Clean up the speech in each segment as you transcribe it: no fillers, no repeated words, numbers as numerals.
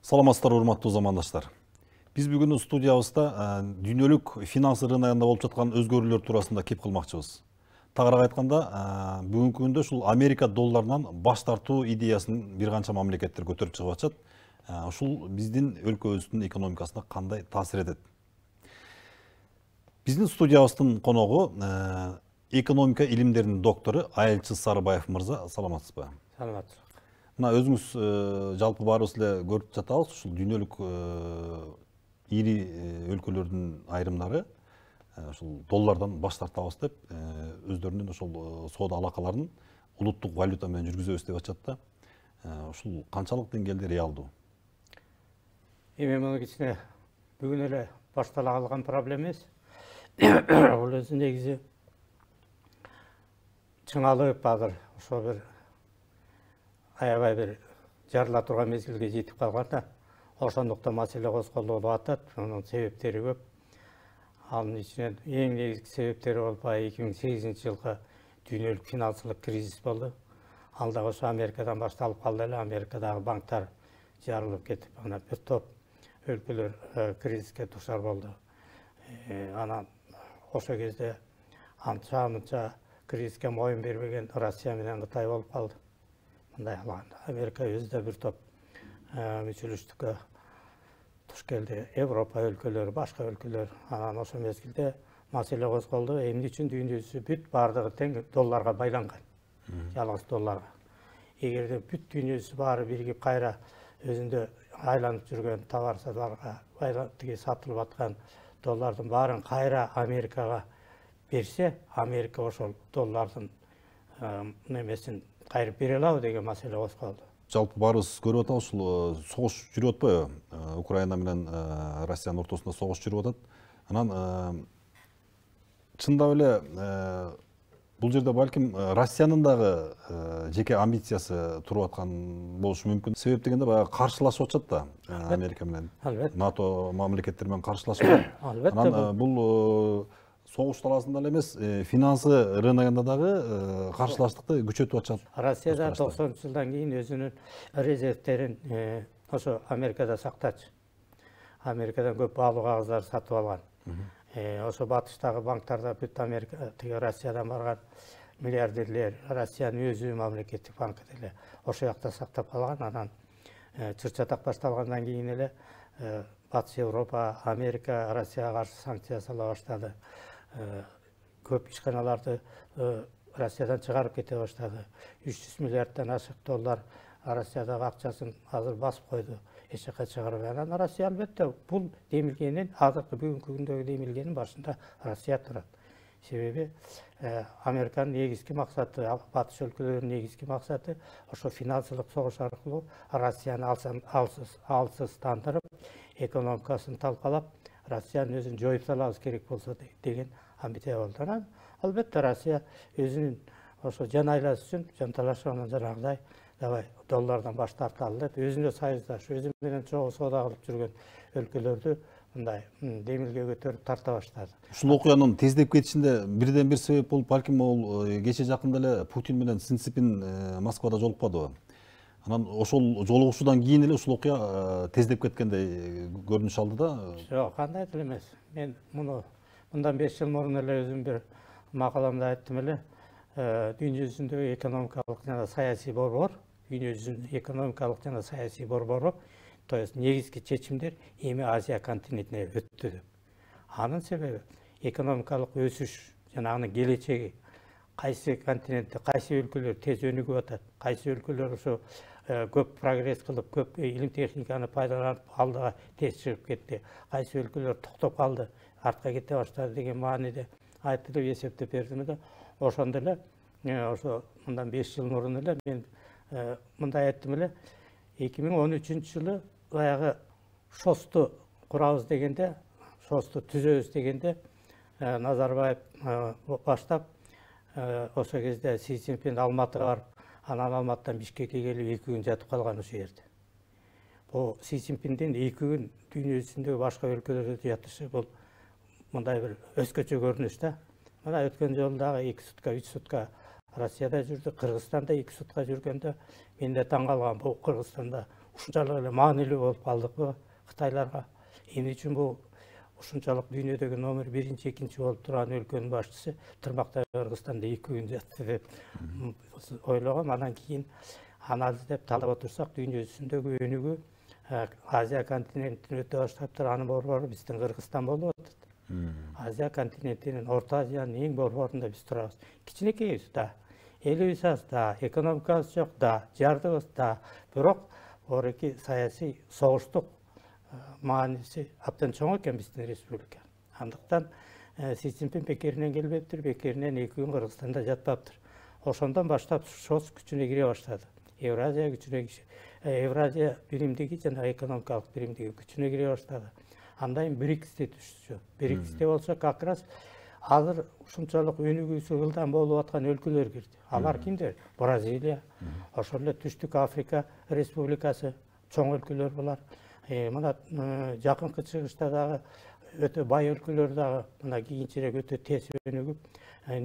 Саламатсыздар, урматтуу замандаштар. Биз бүгүн студиябызда дүйнөлүк финанс рыногунда болуп жаткан өзгөрүүлөр туурасында кеп кылмакчыбыз. Тагыраак айтканда, бүгүнкү күндө ушул Америка долларынан баш тартуу идеясын бир канча мамлекеттер көтөрүп чыгып атышат. Ушул биздин өлкөбүздүн экономикасына кандай таасир этет? Биздин студиябыздын коногу экономика илимдеринин доктору Айылчы Сарыбаев мырза. Саламатсызбы? Саламатсыз. Мына өзүңүз жалпы баарыбыз эле көрүп жатабыз, ушул дүйнөлүк ири өлкөлөрдүн айрымдары ушул доллардан баш тартабыз деп өздөрүнүн ошол соода алакаларын улуттук валюта менен жүргүзөбүз деп атышат да. Ушул канчалык деңгээлде реалдуу? Эми муну кичине бүгүн эле баштала калган проблема эмес. Бул өзү негизи чыңалып азыр ошо бир аябай бир жарыла турган мезгилге жетип калган да. Ошондуктан маселе козголуп атат. Анын себептери көп. Анын ичинен эң негизги себептери болуп 2008 жылкы дүйнөлүк финансылык кризис болду. Ал да ошо Америкадан башталып калды эле. Америкадагы банктар жарылып кетип, ана бир топ өлкөлөр кризиске дуушар болду. Анан ошо кезде анча кризиске моюн бербеген Россия менен Кытай болуп калды. Мындай кылганда Америка өзү да бир топ мүчөлүштүккө туш келди. Европа өлкөлөрү, башка өлкөлөр. Анан ошо мезгилде маселе козголду. Эмне үчүн дүйнөсү бүт баардыгы тең долларга байланган. Жалгыз долларга. Эгерде бүт дүйнөсү баары биригип кайра өзүндө айланып жүргөн товарларга тиги сатылып аткан доллардын баарын кайра Америкага берсе, Америка ошол доллардын немесин кайрып бере алабы деген маселе козголду. Жалпы баарыбыз көрүп атабыз, ушул согуш жүрүп атпайбы? Украина менен Россиянын ортосунда согуш жүрүп атат. Анан чындап эле бул жерде балким Россиянын дагы жеке амбициясы туруп аткан болушу мүмкүн. Себеп дегенде баягы каршылашып атышат да Америка менен. НАТО мамлекеттери менен каршылашып атат. Анан бул согуш талаасында эле эмес, финансы рыногунда дагы каршылаштыкты күчөтүп атышат. Россияда 90 жылдан кийин өзүнүн резервтерин ошо Америкада сактачу. Америкадан көп баалуу кагыздарды сатып алган. Ошо батыштагы банктарда бүт Америка тиги Россиядан барган миллиардерлер, Россиянын өзү мамлекеттик банкы деле ошо жакта сактап калган. Анан чыр-чатак башталгандан кийин эле Батыш Европа, Америка Россияга каршы санкция сала баштады. Көп ишканаларды Россиядан чыгарып кете баштады. 300 миллиарддан ашык доллар Россиядагы акчасын азыр басып койду. Эч жака чыгарбай. Анан Россия албетте бул демилгенин, азыркы бүгүнкү күндөгү демилгенин башында Россия турат. Себеби Американын негизги максаты, батыш өлкөлөрүнүн негизги максаты ошо финансылык согуш аркылуу Россияны алсыздандырып, экономикасын талкалап, Россиянын өзүн жоюп салабыз керек болсо деген амбиция болду. Анан албетте Россия өзүнүн ошо жан айласы үчүн жанталашып жанагыдай давай доллардан баш тарталы деп өзүнө союздаш, өзү менен чогуу соода кылып жүргөн өлкөлөрдү мындай демилге көтөрүп тарта баштады. Ушул окуянын тездеп кетишинде бирден бир себеп болуп, балким ол кече жакында эле Путин менен Си Цзиньпин Москвада жолукпадыбы? Анан ошол жолугушуудан кийин эле ушул окуя тездеп кеткендей көрүнүш алды да. Жок, кандай деле эмес. Мен муну мындан 5 жыл мурун эле өзүм бир макаламда айттым эле. Дүйнө жүзүндөгү экономикалык жана саясий борбор, дүйнө жүзүнүн экономикалык жана саясий борбору, то есть негизги чечимдер эми Азия континентине өттү деп. Анын себеби экономикалык өсүш жана анын келечеги кайсы континентте, кайсы өлкөлөр тез өнүгүп атат, кайсы өлкөлөр ошо көп прогресс кылып, көп илим техниканы пайдаланып алдыга тез чыгып кетти, кайсы өлкөлөр токтоп калды, артка кете баштады деген мааниде айтып эсептеп бердим да. Ошондо эле ошо мындан 5 жыл мурун эле мен мындай айттым эле. 2013-жылы баягы ШОСту курабыз дегенде, ШОСту түзөбүз дегенде Назарбаев баштап ошо кезде Си Цзиньпин Алматыга барып, анан Алматыдан Бишкекке келип 2 күн жатып калган ошо жерде. Бул Си Цзиньпиндин 2 күн дүйнө жүзүндөгү башка өлкөлөрдө жатышы бул мындай бир өзгөчө көрүнүш да. Мына өткөн жолу дагы 2 сутка, 3 сутка Россияда жүрдү, Кыргызстанда 2 сутка жүргөндө мен де таң калгам. Бул Кыргызстанда ушунчалык эле маанилүү болуп калдыкпы Кытайларга? Эмне үчүн бул ушунчалык дүйнөдөгү номер 1-2 болуп турган өлкөнүн башчысы Тырмактай Кыргызстанда 2 күн жатты деп ойлогом. Андан кийин анализдеп талдап отурсак, дүйнө жүзүндөгү өнүгүү Азия континентинен өтө баштаптыр. Анын борбору биздин Кыргызстан болуп атат. Азия континентинин, Орто Азиянын эң борборунда биз турабыз. Кичинекейбиз да, элибиз аз да, экономикабыз жок да, жардыбыз да. Бирок орки саясий согуштук мааниси абдан чоң экен биздин республика. Андыктан Си Цзиньпин бекеринен келбептир, бекеринен 2 күн Кыргызстанда жатпаптыр. Ошондон баштап ШОС күчүнө кире баштады. Евразия биримдиги жана экономикалык биримдиги күчүнө кире баштады. Андан кийин БРИКСте түштү. БРИКСте болсо как раз азыр ушунчалык өнүгүүсү ылдам болуп аткан өлкөлөр кирди. Алар кимдер? Бразилия, ошол эле Түштүк Африка Республикасы, чоң өлкөлөр булар. Мына жакынкы чыгышта дагы өтө бай өлкөлөр дагы мына кийинчерээк өтө тез өнүгүп,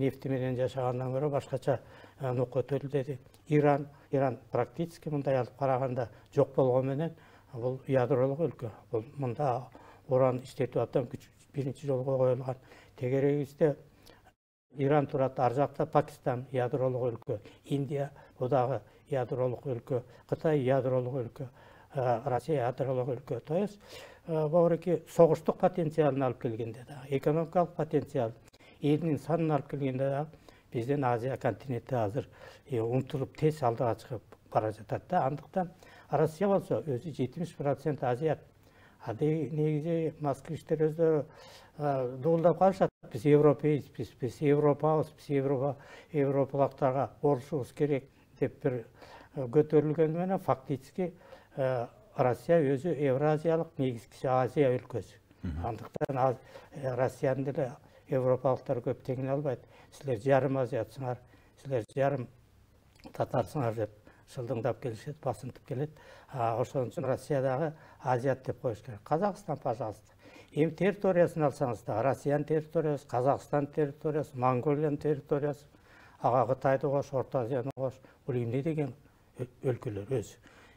нефти менен жашагандан көрө башкача нукут өтүлдү. Иран практически мындай алып караганда жок болгону менен бул ядролук өлкө. Бул мында уран иштетүү абдан биринчи жолго коюлган. Тегерегибизде Иран турат, ар жакта Пакистан ядролук өлкө, Индия бул дагы ядролук өлкө, Кытай ядролук өлкө, Россия ядролук өлкө. То есть баурики согуштук потенциалын алып келгенде да, экономикалык потенциал, элдин санын алып келгенде да биздин Азия континенти азыр умтулуп тез алдыга чыгып бара жатат да. Андыктан Россия болсо өзү 70% азиат. Негизи москвичтер өздөрү дуулдап калышат. Биз европейспиз, биз Европабыз, биз европалыктарга борушубуз керек деп бир көтөрүлгөнү менен фактически Россия өзү Евразиялык, негизгиси Азия өлкөсү. Андыктан Россиянын деле европалыктар көп теңине албайт. Силер жарым азиатсыңар, силер жарым татарсыңар деп шылдыңдап келишет, басынтып келет. Ошон үчүн Россиядагы азиат деп коюш керек. Казакстан, пожалуйста. Эми территориясын алсаңыз да, Россиянын территориясы, Казакстан территориясы, Монголиянын территориясы, ага Кытайды кош, Орто Азияны кош, бул эмне деген өлкөлөр өзү.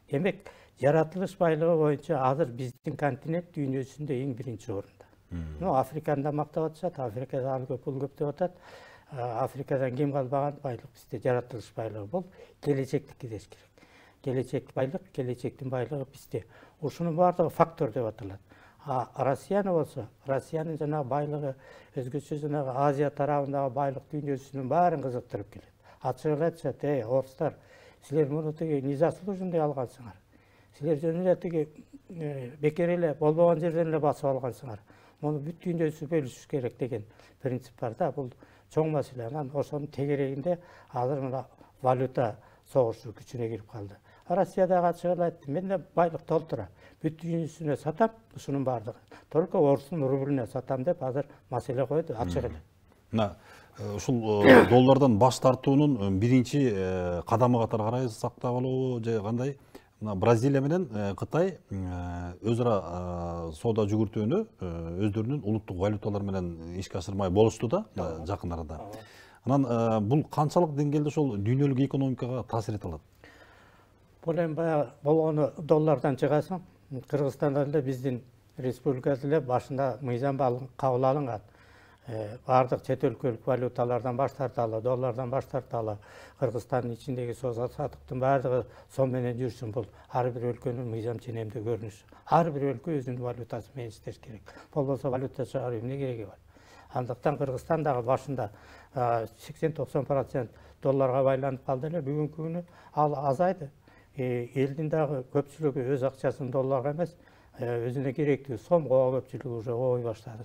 Демек, жаратылыш байлыгы боюнча азыр биздин континент дүйнө жүзүндө эң биринчи орунда. Африканы да мактап атышат, Африкада аны көп пул көп деп атат. Африкадан кем калбаган байлык бизде жаратылыш байлыгы. Бул келечектики деш керек. Келечек байлык, келечектин байлыгы бизде. Ушунун баардыгы фактор деп аталат. Россияны болсо, Россиянын жанагы байлыгы өзгөчө жанагы Азия тарабындагы байлык дүйнөсүнүн баарын кызыктырып келет. Ачык эле айтышат, орустар, силер муну тиги незаслуженный алгансыңар. Силер жөн эле тиги бекер эле болбогон жерден эле басып алгансыңар. Муну бүт дүйнөсү бөлүшүш керек деген принцип бар да. Бул чоң маселе. Анан ошонун тегерегинде азыр мына валюта согушу күчүнө кирип калды. Россиядагы ачык эле айтты, мен да байлык толтура. Бүт дүйнөсүнө сатам, ушунун баардыгы. Только орустун рублине сатам деп азыр маселе койду, ачык эле. Мына ушул доллардан баш тартуунун биринчи кадамы катары карайсак да болобу же кандай? Мына Бразилия менен Кытай өз ара соода жүгүртүүнү өздөрүнүн улуттук валюталары менен ишке ашырмай болушту да жакын арада. Анан бул канчалык деңгээлде ошол дүйнөлүк экономикага таасир эте алат? Бул эми баягы болгону доллардан чыгасың. Кыргызстанда эле биздин республикада эле башында мыйзам кабыл алынган. Бардык чет өлкөлүк валюталардан баш тарталы, доллардан баш тарталы, Кыргызстандын ичиндеги сааттыктын баардыгы сом менен жүрсүн. Бул ар бир өлкөнүн мыйзам ченемдүү көрүнүшү. Ар бир өлкө өзүнүн валютасы менен иштеш керек. Болбосо валюта чыгаруу эмне кереги бар? Андыктан Кыргызстан дагы башында 80-90% долларга байланып калды эле. Бүгүнкү күнү ал азайды. Элдин дагы көпчүлүгү өз акчасын долларга эмес, өзүнө керектүү сомго көпчүлүгү уже ой баштады.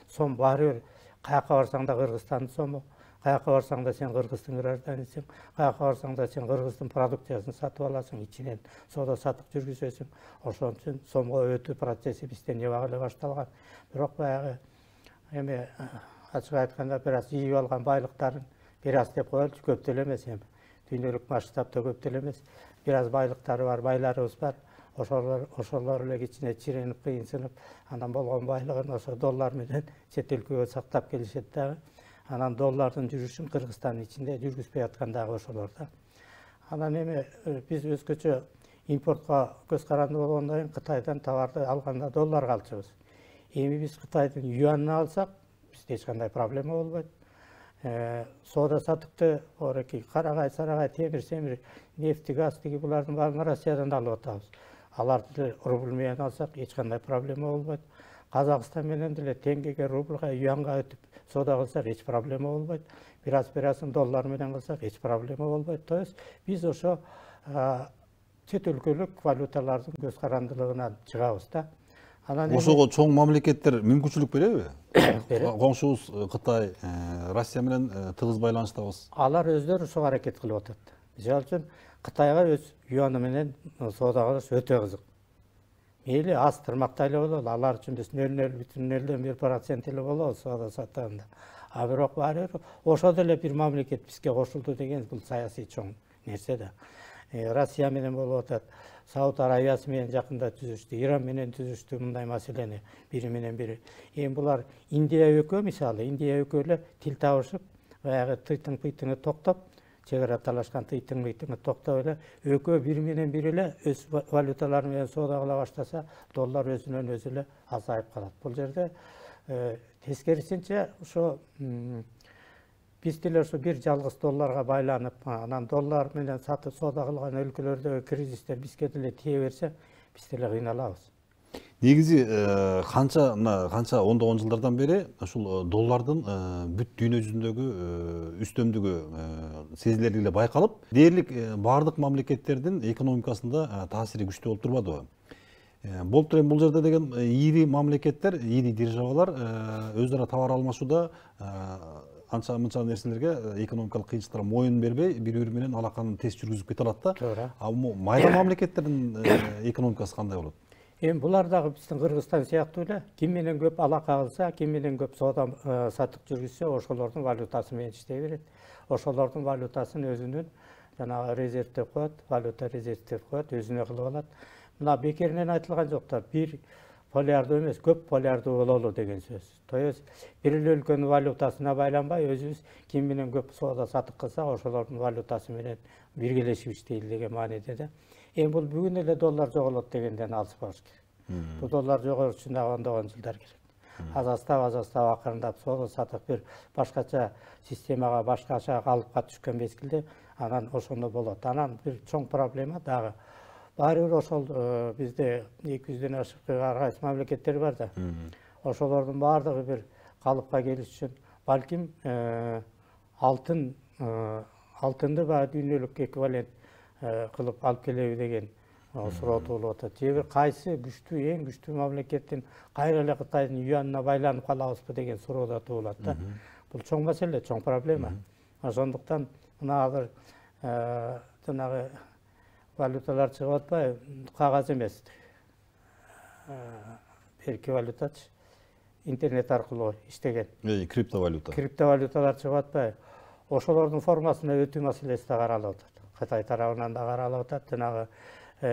Сом баары бир каяка барсаң да Кыргызстандын сому, каяка барсаң да сен Кыргыздын гражданысың, каяка барсаң да сен Кыргыздын продукциясын сатып аласың, ичинен соода саттык жүргүзөсүң. Ошон үчүн сомго өтүү процесси бизде небагы эле башталган. Бирок баягы эми ачык айтканда бир аз жыйып алган байлыктарын бир аз деп коелучу, көп деле эмес эми. Дүйнөлүк масштабта көп деле эмес. Бир аз байлыктары бар, байларыбыз бар. Ошолор эле кичине чиренип, кыйынсынып, анан болгон байлыгын ошо доллар менен чет өлкөгө сактап келишет дагы. Анан доллардын жүрүшүн Кыргызстандын ичинде жүргүзбөй аткан дагы ошолор да. Анан эми биз өзгөчө импортко көз каранды болгондон кийин Кытайдан товарды алганда долларга алчубыз. Эми биз Кытайдын юанын алсак, бизде эч кандай проблема болбойт. Соода саттыкты ореки карагай, сарагай, темир, семир, нефти, газ тиги булардын баарын Россиядан алып атабыз. Аларды рубль менен алсак эч кандай проблема болбойт. Казакстан менен деле теңгеге, рубльга, юанга өтүп соода кылсак эч проблема болбойт. Бир операцияны доллар менен кылсак эч проблема болбойт. То есть биз ошо чет өлкөлүк валюталардын көз карандылыгынан чыгабыз да. Ошого чоң мамлекеттер мүмкүнчүлүк береби? Коңшубуз Кытай, Россия менен тыгыз байланыштабыз. Алар өздөрү ошого аракет кылып атат. Мисалы үчүн Кытайга өз юаны менен соода кылыш өтө кызык. Мейли аз тырмактай эле бололу, алар үчүн биз 0,01% эле болобу соода саттаганда. А бирок баары ошо деле бир мамлекет бизге кошулду деген бул саясий чоң нерсе да. Россия менен болуп атат, Сауд Арабиясы менен жакында түзүштү, Иран менен түзүштү мындай маселени бири менен бири. Эми булар Индия экөө мисалы, Индия экөө эле тил табышып, баягы тыйтың-пыйтыңы токтоп, чек ара талашкан тыйтың-пыйтыңы токтоп эле экөө бири менен бири эле өз валюталары менен соода кыла баштаса, доллар өзүнөн өзү эле азайып калат. Бул жерде тескерисинче ошо биз деле ошо бир жалгыз долларга байланып, анан доллар менен сатып соода кылган өлкөлөрдөгү кризистер бизге деле тие берсе, биз деле кыйналабыз. Негизи канча ондогон жылдардан бери ушул доллардын бүт дүйнө жүзүндөгү үстөмдүгү сезилерлик эле байкалып, дээрлик баардык мамлекеттердин экономикасында таасири күчтүү болуп турбадыбы? Болуптур эми бул жерде деген ири мамлекеттер, ири державалар өз ара товар алмашууда анча-мынча нерселерге экономикалык кыйынчылыктарга моюн бербей, бири-бири менен алаканы тез жүргүзүп кете алат да. Туура. Майра мамлекеттердин экономикасы кандай болот? Эми булар дагы биздин Кыргызстан сыяктуу эле ким менен көп алака кылса, ким менен көп соода саттык жүргүзсө, ошолордун валютасы менен иштей берет. Ошолордун валютасын өзүнүн жанагы резерв деп коет, валюта резерв деп коет, өзүнө кылып алат. Мына бекеринен айтылган жок да, бир полярдуу эмес, көп полярдуу бололу деген сөз. То есть бир эле өлкөнүн валютасына байланбай, өзүбүз ким менен көп соода саттык кылсак, ошолордун валютасы менен биргелешип иштейли деген мааниде да. Эми бул бүгүн эле доллар жоголот дегенден алыспабыз керек. Бул доллар жогош үчүн дагы ондогон жылдар керек. Азастап акырындап соода саттык бир башкача системага, башкача калыпка түшкөн мезгилде анан ошондо болот. Анан бир чоң проблема дагы баары бир ошол бизде 200дөн ашык ар кайсы мамлекеттер бар да. Ошолордун баардыгы бир калыпка келиш үчүн балким алтынды баягы дүйнөлүк эквивалент кылып алып келеби деген суроо туулуп атат. Же бир кайсы күчтүү, эң күчтүү мамлекеттин кайра эле Кытайдын юанына байланып калабызбы деген суроо да туулат да. Бул чоң маселе, чоң проблема. Ошондуктан мына азыр жанагы валюталар чыгып атпайбы, кагаз эмес. Берки валютачы интернет аркылуу иштеген. Криптовалюта. Криптовалюталар чыгып атпайбы? Ошолордун формасына өтүү маселеси да каралып атат. Кытай тарабынан да каралып атат. Жанагы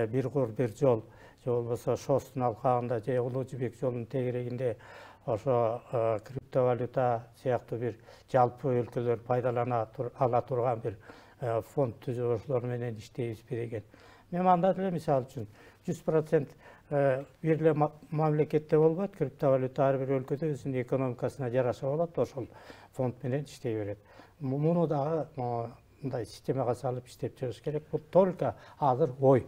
бир кур бир жол, же болбосо Шостун алкагында же Улуу Жибек жолунун тегерегинде ошо криптовалюта сыяктуу бир жалпы өлкөлөр пайдалана ала турган бир фонд түзүп ошолор менен иштейбизби деген. Мен анда деле мисалы үчүн 100% бир эле мамлекетте болбойт, криптовалюта ар бир өлкөдө өзүнүн экономикасына жараша болот, ошол фонд менен иштей берет. Муну дагы мындай системага салып иштеп чыгыш керек. Бул только азыр ой.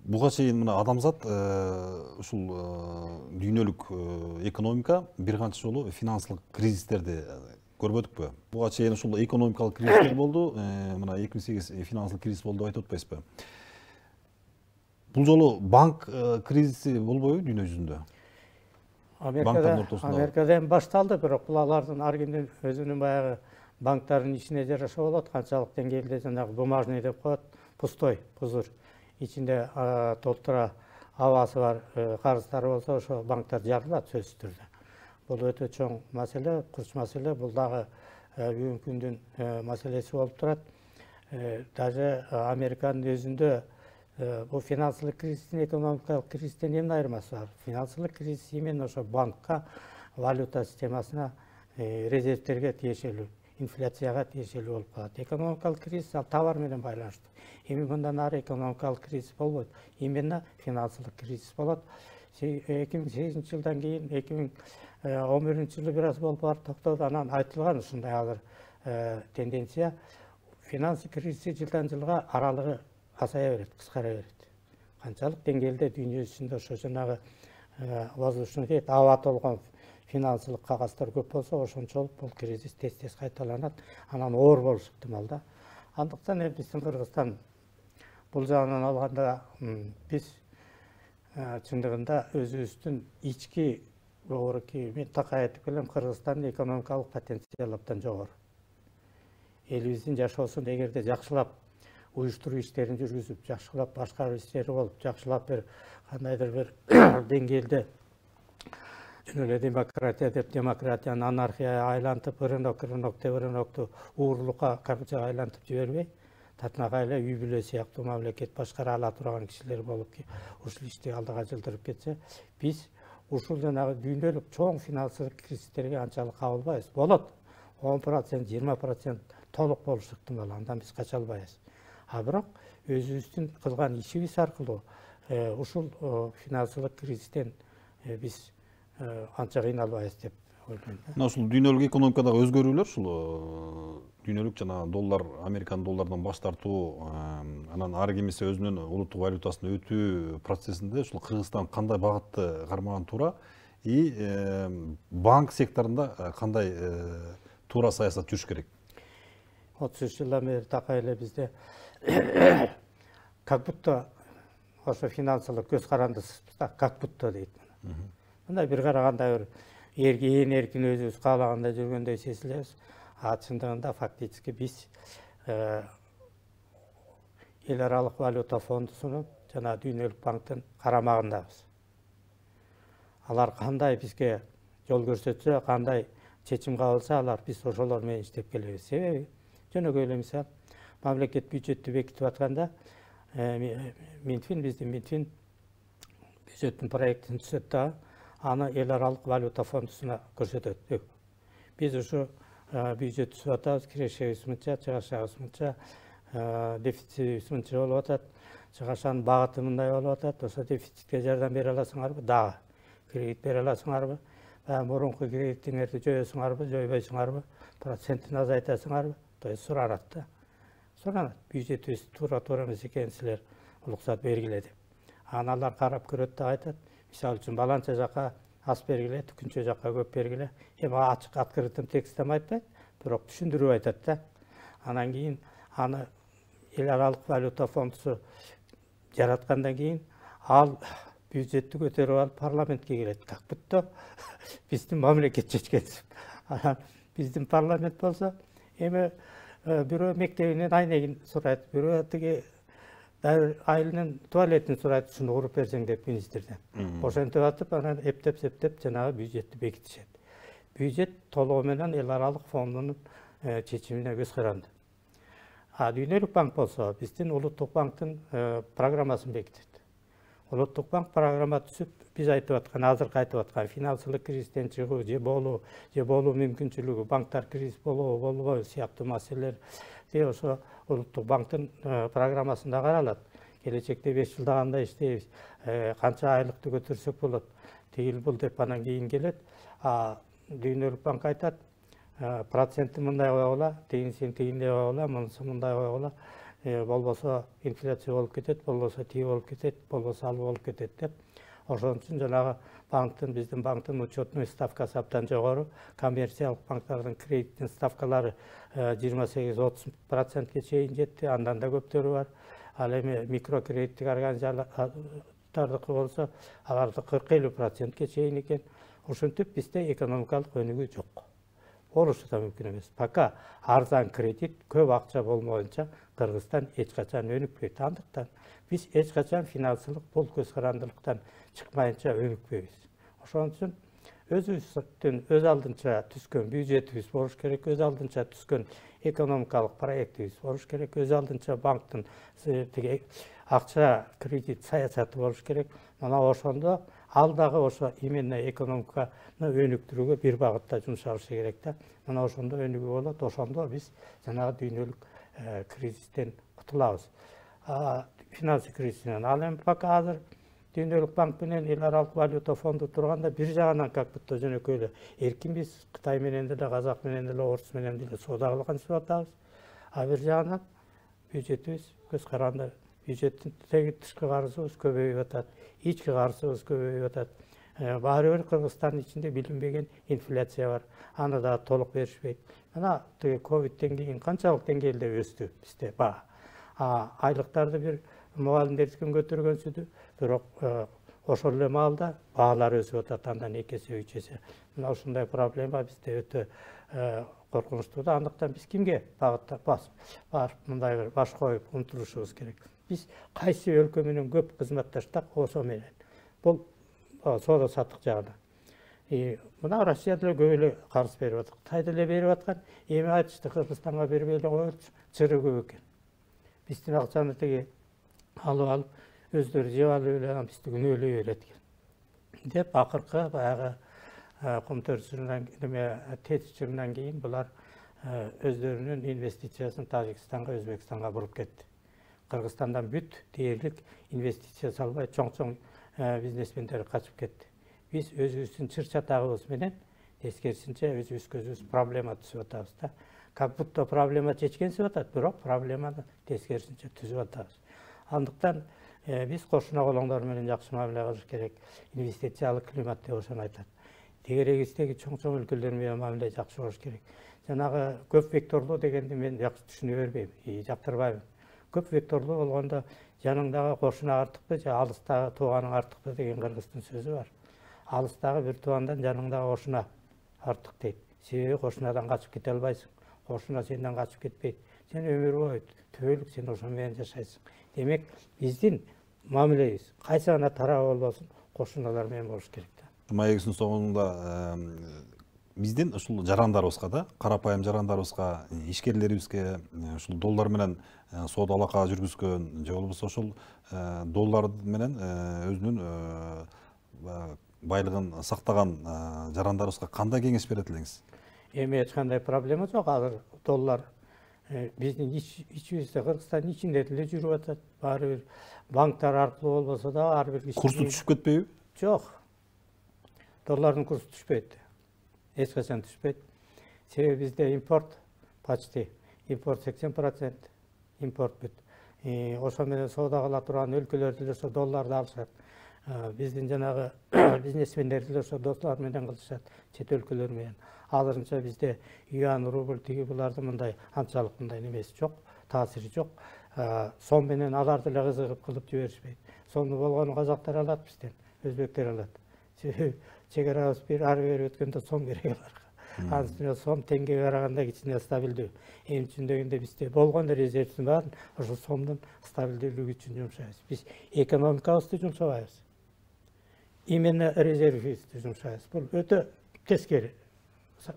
Буга чейин мына адамзат ушул дүйнөлүк экономика бир канча жолу финансылык кризистерди көрбөдүкпү? Буга чейин ушул экономикалык кризистер болду, мына 2008 финансылык кризис болду деп айтып атпайсызбы? Бул жолу банк кризиси болбойбу дүйнө жүзүндө? Америкадан башталды, бирок бул алардын ар кимдин өзүнүн баягы банктардын ишине жараша болот. Канчалык деңгээлде жанагы бумажный деп коет, пустой, пузырь. Ичинде толтура абасы бар карыздары болсо, ошо банктар жарылат сөзсүз түрдө. Бул өтө чоң маселе, курч маселе. Бул дагы бүгүнкү күндүн маселеси болуп турат. Даже Американын өзүндө бул финансылык кризистин экономикалык кризистен эмне айырмасы бар? Финансылык кризис именно ошо банкка, валюта системасына, резервтерге тиешелүү. инфляцияга тиешелүү болуп калат. Экономикалык кризис ал товар менен байланыштуу. Эми мындан ары экономикалык кризис болбойт. Именно финансылык кризис болот. 2008 жылдан кийин 2011 жылы бир аз болуп барып токтоду. Анан айтылган ушундай азыр тенденция финансы кризиси жылдан жылга аралыгы азая берет, кыскара берет. Канчалык деңгээлде дүйнө жүзүндө ошо жанагы воздушный дейт, аба толгон финансылык кагаздар көп болсо, ошончолук бул кризис тез кайталанат, анан оор болушу ыктымал да. Андыктан биздин Кыргызстан бул жагынан алганда биз чындыгында өзүбүздүн ички минтака айтып келем, Кыргызстандын экономикалык потенциалы абдан жогору. Элибиздин жашоосун эгерде жакшылап уюштуруу иштерин жүргүзүп, жакшылап башкаруу иштери болуп, жакшылап бир кандайдыр бир деңгээлде жөн эле демократия деп демократияны анархияга айлантып, рынокту уурулукка, коррупцияга айлантып жибербей, татынакай эле үй бүлө сыяктуу мамлекет башкара ала турган кишилер болуп, ушул ишти алдыга жылдырып кетсе, биз ушул жанагы дүйнөлүк чоң финансылык кризистерге анчалык кабылбайбыз. Болот 10%, 20% толук болушу ыктымал, андан биз кача албайбыз. А бирок өзүбүздүн кылган ишибиз аркылуу ушул финансылык кризистен биз анча кыйналбайбыз деп ойлойм. Мына ушул дүйнөлүк экономикадагы өзгөрүүлөр ушул дүйнөлүк жана доллар, Американын доллардан баш тартуу, анан ары кемесе өзүнүн улуттук валютасына өтүү процессинде ушул Кыргызстан кандай багытты кармаган туура и банк секторунда кандай туура саясат жүрүш керек? 30 жылдан бери такай эле бизде как будто ошо финансылык көз карандысызбыз да, как будто дейт. Мындай бир караганда бир эркин өзүбүз каалагандай жүргөндөй сезилебиз. А чындыгында фактически биз эл аралык валюта фондусунун жана дүйнөлүк банктын карамагындабыз. Алар кандай бизге жол көрсөтсө, кандай чечим кабылса, алар биз ошолор менен иштеп келебиз. Себеби жөнөкөй эле мисал, мамлекет бюджеттти бекитип атканда биздин Минфин бюджеттин проектин түзөт да, аны эл аралык валюта фондусуна көрсөтөт. Биз ушу бюджет түзүп атабыз, кирешебиз мынча, чыгашабыз мынча, дефицитибиз мынча болуп атат, чыгашанын багыты мындай болуп атат, ошо дефицитке жардам бере аласыңарбы? Дагы кредит бере аласыңарбы? Мурунку кредитиңерди жоюсуңарбы, жойбойсуңарбы? Процентин азайтасыңарбы? То есть суранат да. Суранат. Бюджетибиз туура эмес экенин силер уруксат бергиле деп. Аналар карап көрөт да айтат. Мисалы үчүн баланча жакка аз бергиле, түкүнчө жакка көп бергиле. Эми ачык открытым текстте айтпайт, бирок түшүндүрүп айтат да. Анан кийин аны эл аралык валюта фондусу жараткандан кийин ал бюджетти көтөрүп алып парламентке келет. Как будто биздин мамлекет чечкенсип. Анан биздин парламент болсо эми бирөө мектебинен айнегин сурайт, бирөө тиги айылынын туалетин сурайт, ушуну куруп берсең деп министрден. Ошентип атып, анан эптеп жанагы бюджетти бекитишет. Бюджет толугу менен эл аралык фондунун чечимине көз каранды. А дүйнөлүк банк болсо биздин улуттук банктын программасын бекитет. Улуттук банк программа түзүп, биз айтып аткан, азыркы айтып аткан финансылык кризистен чыгуу же болуу мүмкүнчүлүгү, банктар кризис болобу, болбойбу сыяктуу маселелер ошо улуттук банктын программасында каралат. Келечекте 5 жылда кандай иштейбиз, канча айлыкты көтөрсөк болот, тигил бул деп анан кийин келет. Дүйнөлүк банк айтат, процентти мындай койгула, тигинсин тигиндей койгула, мунусу мындай койгула, болбосо инфляция болуп кетет, болбосо тиги болуп кетет, болбосо ал болуп кетет деп. Ошон үчүн жанагы биздин банктын учетной ставкасы абдан жогору, коммерциялык банктардын кредиттин ставкалары 28-30%ке чейин жетти, андан да көптөрү бар. Ал эми микрокредиттик организациялардыкы болсо, аларды 40-50%ке чейин экен. Ошентип бизде экономикалык өнүгүү жок. Болушу да мүмкүн эмес. Пока арзан кредит, көп акча болмоюнча Кыргызстан эч качан өнүкпөйт. Андыктан биз эч качан финансылык бул көз карандылыктан чыкмайынча өнүкпөйбүз. Ошон үчүн өзүбүздүн өз алдынча түзгөн бюджетибиз болуш керек, өз алдынча түзгөн экономикалык проектибиз болуш керек, өз алдынча банктын акча кредит саясаты болуш керек. Мына ошондо ал дагы ошо именно экономиканы өнүктүрүүгө бир багытта жумшалышы керек да. Мына ошондо өнүгүү болот, ошондо биз жанагы дүйнөлүк кризистен кутулабыз. Финансы кризисинен. Ал эми пока азыр Дүйнөлүк банк менен эл аралык валюта фонду турганда бир жагынан как будто жөнөкөй эле эркин биз Кытай менен деле, Казак менен деле, Орус менен деле соода кылгансып атабыз. А бир жагынан бюджетибиз көз каранды, бюджеттин тышкы карызыбыз көбөйүп атат, ички карызыбыз көбөйүп атат. Баары бир Кыргызстандын ичинде билинбеген инфляция бар. Аны да толук беришпейт. Мына ковидтен кийин канчалык деңгээлде өстү бизде баа. Айлыктарды бир мугалимдердикин көтөргөнсүдү, бирок ошол эле маалда баалар өсүп атат, андан 2 эсе 3 эсе. Мына ушундай проблема бизде өтө коркунучтуу да. Андыктан биз кимге багыттап мындай бир баш коюп умтулушубуз керек. Биз кайсы өлкө менен көп кызматташтык ошо менен. Бул соода саттык жагынан. Мына Россия деле көп эле карыз берип атат. Кытай деле берип аткан. Эми айтышты Кыргызстанга бербей эле коелучу, чыры көп экен. Биздин акчаны теги алып өздөрү жеп алып эле бизди күнөөлөй берет экен деп акыркы баягы комтөрчүнөн тетичинен кийин булар өздөрүнүн инвестициясын Тажикстанга, Өзбекстанга буруп кетти. Кыргызстандан бүт дээрлик инвестиция салбай чоң бизнесмендер качып кетти. Биз өзүбүздүн чыр-чатагыбыз менен тескерисинче өзүбүзгө проблема түзүп атабыз да. Как будто проблема чечкенсип атат, бирок проблеманы тескерисинче түзүп атабыз. Андыктан биз кошуна колоңдор менен жакшы мамиле кылыш керек. Инвестициялык климат деп ошону айтат. Тегерегибиздеги чоң өлкөлөр менен мамиле жакшы болуш керек. Жанагы көп векторлуу дегенди мен жакшы түшүнө бербейм, жактырбайм. Көп векторлуу болгондо жаныңдагы кошуна артыкпы же алыстагы тууганың артыкпы деген кыргыздын сөзү бар. Алыстагы бир туугандан жаныңдагы кошуна артык дейт. Себеби кошунадан качып кете албайсың. Кошуна сенден качып кетпейт. Сен өмүр бою түбөлүк сен ошо менен жашайсың. Демек, биздин мамилебиз кайсы гана тарабы болбосун, кошуналар менен болуш керек да. Маегибиздин соңунда биздин ушул жарандарыбызга да, карапайым жарандарыбызга, ишкерлерибизге ушул доллар менен соода алака жүргүзгөн же болбосо ошол доллар менен өзүнүн байлыгын сактаган жарандарыбызга кандай кеңеш берет элеңиз? Эми эч кандай проблема жок. Азыр доллар биздин ичибизде, Кыргызстандын ичинде деле жүрүп атат. Баары бир банктар аркылуу болбосо да ар бир курсу түшүп кетпейби? Жок. Доллардын курсу түшпөйт. Эч качан түшпөйт. Себеби бизде импорт почти, импорт 80%, импорт бүт. Ошо менен соода кыла турган өлкөлөр деле ошо долларды алышат. Биздин жанагы бизнесмендер деле ошо доллар менен кылышат, чет өлкөлөр менен. Азырынча бизде юан, рубль тиги буларды мындай анчалык мындай немеси жок, таасири жок. Сом менен алар деле кызыгып кылып жиберишпейт. Сомду болгону казактар алат бизден, өзбектер алат. Чегарабыз ары бери өткөндө сом керек аларга. Анын сом теңгеге караганда кичине стабилдүү. Эми түшүндөгөндө бизде болгон резервдин баарын ошо сомдун стабилдүүлүгү үчүн жумшайбыз. Биз экономикабызды жумшабайбыз. Именно резервибизди жумшайбыз. Бул өтө тескери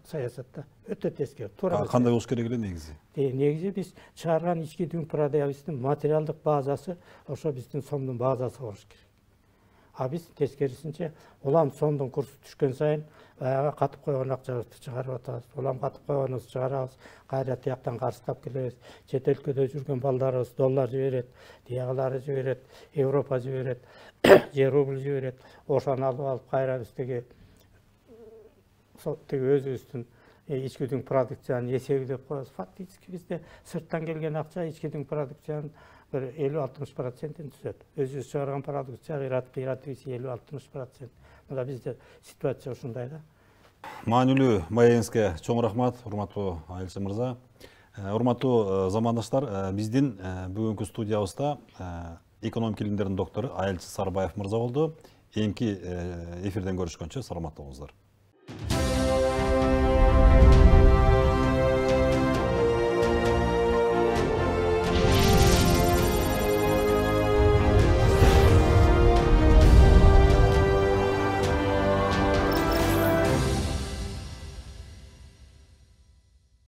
саясатта, өтө тескери. Кандай болуш керек эле негизи? Негизи биз чыгарган ички дүң продуктыбыздын материалдык базасы ошо биздин сомдун базасы болуш керек. А биз тескерисинче улам сомдун курсу түшкөн сайын баягы катып койгон акчабызды чыгарып атабыз. Улам катып койгонубузду чыгарабыз, кайра тияктан карыстап келебиз. Чет өлкөдө жүргөн балдарыбыз доллар жиберет, тиягылары жиберет, Европа жиберет, же рубль жиберет. Ошону алып кайра биздеги өзүбүздүн ички дүң продукцияны эсептеп коебуз. Фактически бизде сырттан келген акча ички дүң продукциянын bir 50-60%'in түзөт. Өзүбүз чыгарган продукция кыйратыбыз 50-60%. Мына бизде ситуация ушундай да. Маанилүү маегиңизге чоң рахмат, урматтуу Айылчы мырза. Урматтуу замандаштар, биздин бүгүнкү студиябызда экономика илимдеринин доктору Айылчы Сарыбаев мырза болду. Эки эфирден көрүшкөнчө саламатта болуңуздар.